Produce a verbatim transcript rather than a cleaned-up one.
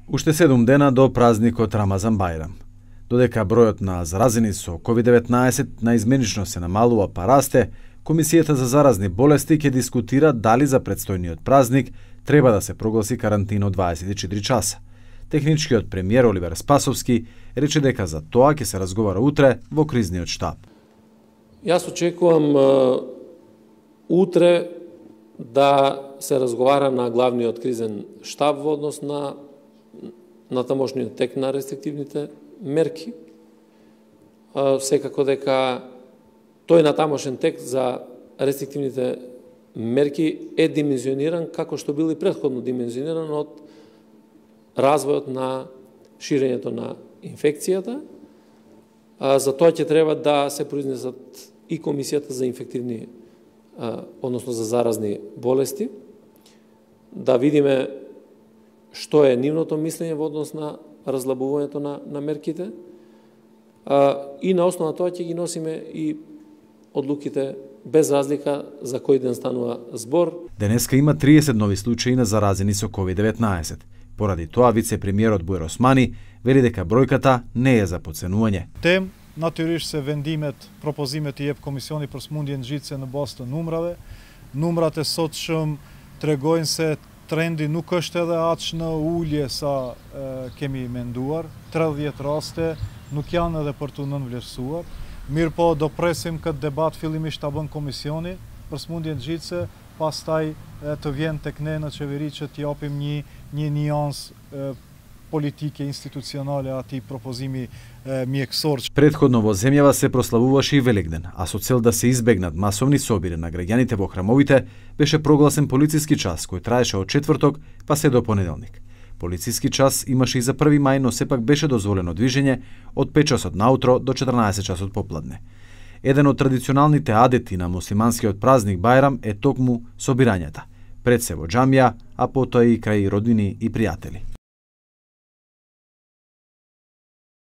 Уште седум дена до празникот Рамазан Бајрам. Додека бројот на заразени со ковид деветнаесет наизменично се намалува па расте, Комисијата за заразни болести ќе дискутира дали за предстојниот празник треба да се прогласи карантина од дваесет и четири часа. Техничкиот премиер Оливер Спасовски рече дека за тоа ќе се разговара утре во кризниот штаб. Јас очекувам утре да се разговара на главниот кризен штаб во однос на на тамошниот тек на рестриктивните мерки. Секако дека тој на тамошен тек за рестриктивните мерки е димензиониран како што бил и претходно димензиониран од развојот на ширењето на инфекцијата. За тоа ќе треба да се произнесат и Комисијата за инфективни, односно за заразни болести, да видиме што е нивното мислење во однос на разлабувањето на, на мерките, и на основа тоа ќе ги носиме и одлуките без разлика за кој ден станува збор. Денеска има триесет нови случаи на заразени со ковид деветнаесет. Поради тоа вице-премиерот Бојар Османи вели дека бројката не е за подценување. Тем натурисht se vendimet, propozimet i jep Komisioni për smundjen nxitse në bazë të numrave. Numrat e sotshëm tregojnë se trendi nuk është edhe aq në ulje sa e, kemi menduar. tridhjetë raste nuk janë edhe për të nënvlerësuar. Mirë po do presim këtë debat fillimisht ta bën Komisioni për smundjen nxitse, pastaj e, të vjen tek ne në qeveri që t'japim një një niansë politike institucionale atij propozimi mjekësor. Предходно во земјава се прославуваше и Великден, а со цел да се избегнат масовни собири на граѓаните во храмовите, беше прогласен полициски час кој траеше од четврток па се до понеделник. Полициски час имаше и за први мај, но сепак беше дозволено движење од пет часот наутро до четрнаесет часот попладне. Еден од традиционалните адети на муслиманскиот празник Бајрам е токму собирањата, пред се во џамија, а потоа и крај роднини и пријатели.